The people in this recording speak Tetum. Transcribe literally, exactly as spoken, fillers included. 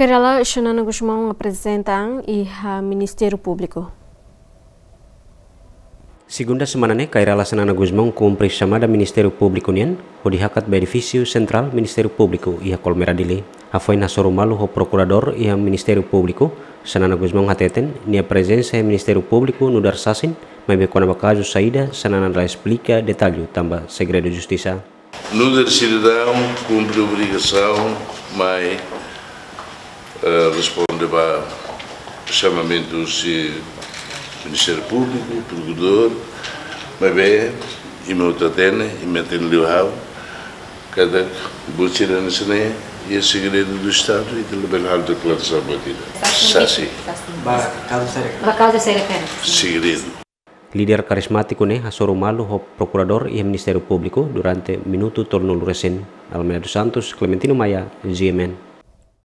Kay Rala Xanana Gusmão aprezenta an iha Ministériu Públiku. Segunda semana ne'e, Kay Rala Xanana Gusmão kumpre xamada Ministériu Públiku nian, hodi hakat ba edifísiu sentrál Ministériu Públiku iha Colmera, Dili. Hafoin hasoru malu ho prokuradór iha Ministériu Públiku, Xanana Gusmão hateten, nia prezensa iha Ministériu Públiku nu'udar sasin, maibé kona-ba kazu saida, Xanana la esplika detallu tanba segredu justisa. Nu'udar sidadaun kumpre obrigasaun mai, eh, responde ba xamamentu husi Ministériu Públiku, prokuradór, maibé imi hotu hatene, imi hatene liu ha'u, katak buat sira hanesan ne'e iha segredu do Estadu, ita labele halo deklarasaun buat ida. Sasin. Sasin. Sasin. Ba kazu saida? Ba kazu saida? Segredu. Líder karizmátiku ne'e hasoru malu ho prokuradór iha Ministériu Públiku durante minutu tolunulu resin. Almeida dos Santos, Clementino Maia, G M N.